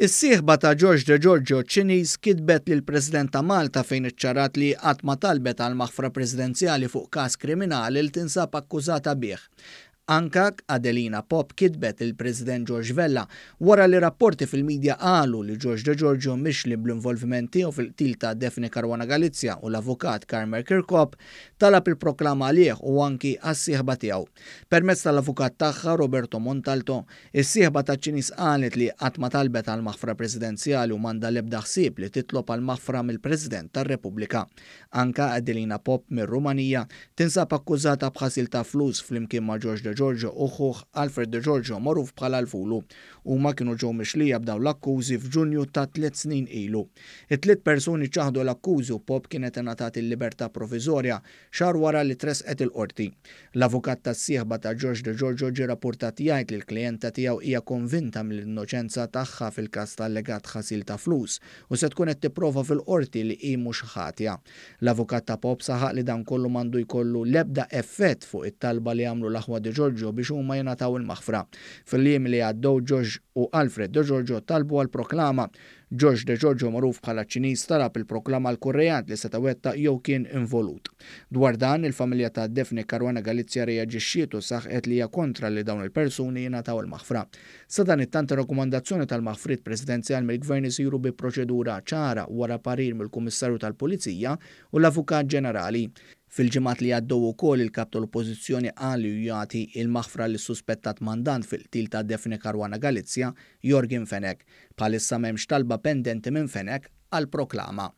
Is-sieħba ta' George Degiorgio Ċiniż kitbet lill-President ta' Malta fejn iċċarat li qatt ma talbet għal maħfra presidenzjali fuq każ kriminali li tinsab akkużata bih. Anka Adelina Pop kitbet lill-President George Vella wara li rapporti fil-midja qalu li George Degiorgio mixli bl-involviment tiegħu fil-qtil ta' Daphne Caruana Galizia u l-avukat Carmer Chircop talab il-proklama għalih u anki għas-sieħba tiegħu. Permezz tal-avukat tagħha Roberto Montalto, Is-sieħba taċ-Ċiniż qalet li qatt ma talbet għal maħfra presidenzjali u m'għandha l-ebda ħsieb li titlob għal maħfra mill-President tar-Repubblika. Anka Adelina Pop mir-Rumanija tinsab akkużata b'ħasil ta' flus flimkien ma' George Degiorgio u ħuh Alfred Degiorgio magħruf bħala l-Fulu. Huma kienu ġew mixlija b'dawn l-akkużi f'Ġunju ta' tliet snin ilu. It-tliet persuni ċaħdu l-akkużi u Pop kienet ingħatat il-libertà proviżorja xahar wara li tressqet il-Qorti. L-avukat tas-sieħba ta' George Degiorgio ġie rappurtat jgħid li l-klijenta tiegħu hija konvinta mill-innoċenza tagħha fil-każ ta' allegat ħasil ta' flus u se tkun qed tipprova fil-Qorti li hi mhux ħatja. L-avukat ta' Pop saħaq li dan kollu m'għandu jkollu l-ebda effett fuq it-talba li għamlu l-aħwa Degiorgio biex huma jingħataw il-maħfra. Fil-jiem li għaddew George u Alfred Degiorgio talbu għal proklama George Degiorgio magħruf bħala ċ-Ċiniż talab il-proklama għal kull reat li seta' wettaq jew kien involut. Dwar dan, il-familja ta' Daphne Caruana Galizia rreaġixxiet u saħqet li hija kontra li dawn il-persuni jingħataw il-maħfra. Sadanittant ir-rakkomandazzjoni tal-maħfriet presidenzjal mill-Gvern isiru bi proċedura ċara wara parir mill-Kummissarju tal-Pulizija u l-Avukat Ġenerali. Fil-ġimgħat li għaddew ukoll il-Kap tal-Oppożizzjoni qal li hu jagħti il-maħfra lis-suspettat mandant fil-qtil ta' Daphne Caruana Galizia, Yorgen Fenech. Bħalissa m'hemmx talba pendenti minn Fenech għal proklama.